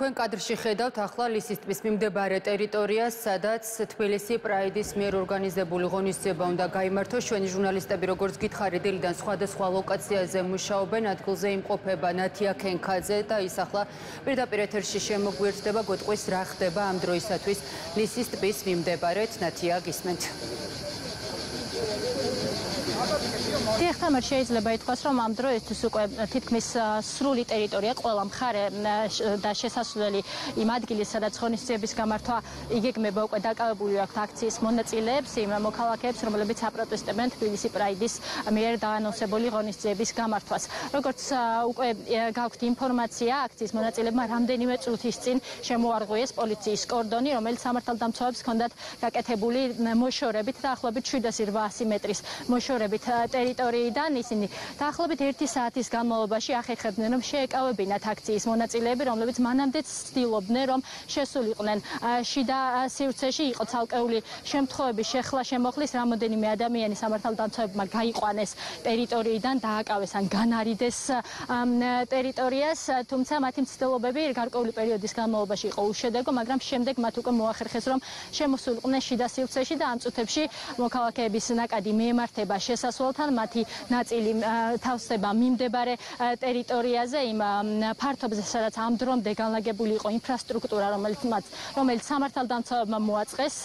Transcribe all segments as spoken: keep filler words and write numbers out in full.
თქვენ კადრში ხედავთ ახლა ლისის ტბის მიმდებარე ტერიტორიას, სადაც თბილისი პრაიდის მიერ ორგანიზებული ღონისძიება უნდა გაიმართოს. ჩვენი ჟურნალისტები, როგორც გითხარით, დილიდან სხვადასხვა ლოკაციაზე მუშაობენ, ადგილზე იმყოფება ნათია ქენქაძე და ის ახლა პირდაპირ ეთერში შემოგვიერთდება, გვეტყვის რა ხდება ამ დროისათვის ლისის ტბის მიმდებარედ. ნათია, გისმენთ. Დიახთამარ, შეიძლება ითქვას, რომ ამ დროისთვის უკვე თითქმის სრული ტერიტორია, ყველა მხარე და შესასვლელი იმ ადგილის, სადაც ღონისძიების გამართვა იგეგმება, უკვე დაკავებული აქვთ აქციის მონაწილეებს, იმ მოქალაქეებს, რომლებიც აპროტესტებენ თბილისი პრაიდის მიერ დაანონსებული ღონისძიების გამართვას. Როგორც უკვე გაქვთ ინფორმაცია, აქციის მონაწილეებმა რამდენიმე წუთის წინ შემოარღვიეს პოლიციის კორდონი, რომელიც სამართალდამცავებს ჰქონდათ გაკეთებული მოშორებით დაახლოებით შვიდასი რვაასი მეტრის მოშორებით ტერიტორიიდან. ისინი დაახლოებით ერთი საათის განმავლობაში ახერხებდნენ, რომ შეეკავებინათ აქციის მონაწილეები, რომლებიც მანამდეც ცდილობდნენ, რომ შესულიყვნენ შიდა სივრცეში. იყო ცალკეული შემთხვევები შეხლა შემოხლის, რამოდენიმე ადამიანი სამართალდამცავებმა გაიყვანეს ტერიტორიიდან, დააკავეს ან განარიდეს ტერიტორიას, თუმცა მათი მცდელობები გარკვეული პერიოდის განმავლობაში იყო უშედეგო, მაგრამ შემდეგ მათ უკვე მოახერხეს, რომ შემოსულიყვნენ შიდა სივრცეში და ამ წუთებში მოქალაქეების ნაკადი მიემართება შესასვლელთან, მათი ნაწილი თავსდება მიმდებარე ტერიტორიაზე, იმ ფართობზე, სადაც ამ დრომდე განლაგებული იყო ინფრასტრუქტურა, რომელიც მათ, რომელიც სამართალდამცავებმა მოაწყეს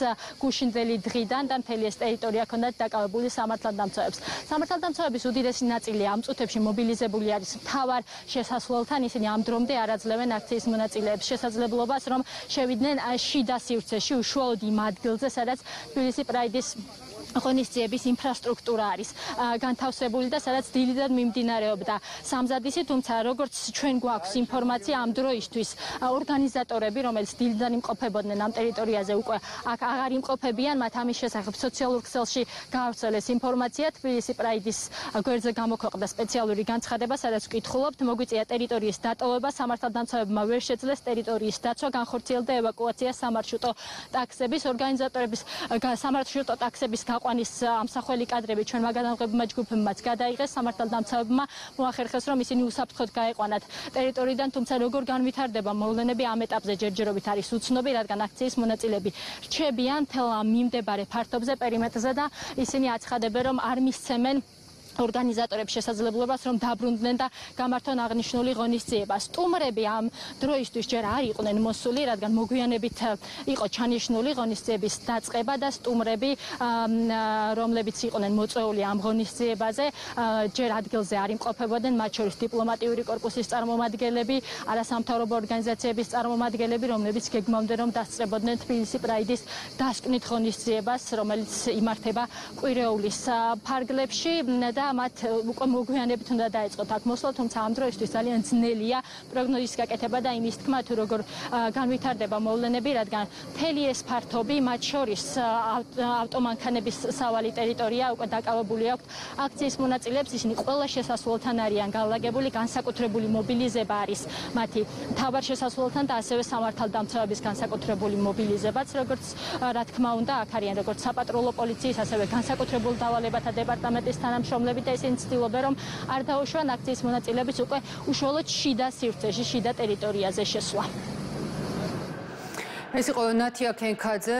გუშინდელი დღიდან და მთელი ეს ტერიტორია ჰქონდათ დაკავებული სამართალდამცავებს. სამართალდამცავების უდიდესი ნაწილი ამ წუთებში მობილიზებული არის მთავარ შესასვლელთან, ისინი ამ დრომდე არ აძლევენ აქციის მონაწილეებს შესაძლებლობას, რომ შევიდნენ შიდა სივრცეში, უშუალოდ იმ ადგილზე, სადაც თბილისი პრაიდის ღონისძიების ინფრასტრუქტურა არის განთავსებული და სადაც დილიდან მიმდინარეობდა სამზადისი, თუმცა როგორც ჩვენ გვაქვს ინფორმაცია, ამ დროისთვის ორგანიზატორები, რომელიც დილიდან იმყოფებოდნენ ამ ტერიტორიაზე, უკვე აქ აღარ იმყოფებიან, მათ ამის შესახებ სოციალურ ქსელში გაავრცელეს ინფორმაცია. თბილისი პრაიდის გვერდზე გამოქვეყნდა სპეციალური განცხადება, სადაც ვკითხულობთ, მოგვიწია ტერიტორიის დატოვება, სამართალდამცავებმა ვერ შეძლეს ტერიტორიის დაცვა, განხორციელდა ევაკუაცია სამარშრუტო ტაქსების, ორგანიზატორების სამარშრუტო ტაქსების ყვანის ამსახველი კადრები ჩვენმა გადამღებმა ჯგუფებმაც გადაიღეს, სამართალდამცავებმა მოახერხეს, რომ ისინი უსაფრთხოდ გაეყვანათ ტერიტორიიდან, თუმცა როგორ განვითარდება მოვლენები ამ ეტაპზე ჯერჯერობით არის უცნობი, რადგან აქციის მონაწილეები რჩებიან მთელ ამ მიმდებარე ფართობზე, პერიმეტრზე და ისინი აცხადებენ, რომ არ მისცემენ ორგანიზატორებს შესაძლებლობას, რომ დაბრუნდნენ და გამართონ აღნიშნული ღონისძიება. სტუმრები ამ დროისთვის ჯერ არ იყვნენ მოსული, რადგან მოგვიანებით იყო ჩანიშნული ღონისძიების დაწყება და სტუმრები, რომლებიც იყვნენ მოწვეული ამ ღონისძიებაზე, ჯერ ადგილზე არ იმყოფებოდნენ, მათ შორის დიპლომატიური კორპუსის წარმომადგენლები, არასამთავრობო ორგანიზაციების წარმომადგენლები, რომლებიც გეგმავდნენ, რომ დასწრებოდნენ თბილისი პრაიდის დასკვნით ღონისძიებას, რომელიც იმართება კვირეულის ფარგლებში და მათ უკვე მოგვიანებით უნდა დაეწყოთ აქ მოსვლა, თუმცა ამ დროისთვის ძალიან ძნელია პროგნოზის გაკეთება და იმის თქმა, თუ როგორ განვითარდება მოვლენები, რადგან მთელი ეს ფართობი, მათ შორის ავტომანქანების სავალი ტერიტორია უკვე დაკავებული აქვთ აქციის მონაწილეებს, ისინი ყველა შესასვლელთან არიან განლაგებული, განსაკუთრებული მობილიზება არის მათი მთავარ შესასვლელთან და ასევე სამართალდამცავების განსაკუთრებული მობილიზებაც, როგორც რა თქმა უნდა, აქ არიან როგორც საპატრულო პოლიციის, ასევე განსაკუთრებულ დავალებათა დეპარტამენტის თანამშრომლები და ისინი ცდილობენ, რომ არ დაუშვან აქციის მონაწილეების უკვე უშუალოდ შიდა სივრცეში, შიდა ტერიტორიაზე შესვლა. ეს იყო ნათია ქენქაძე.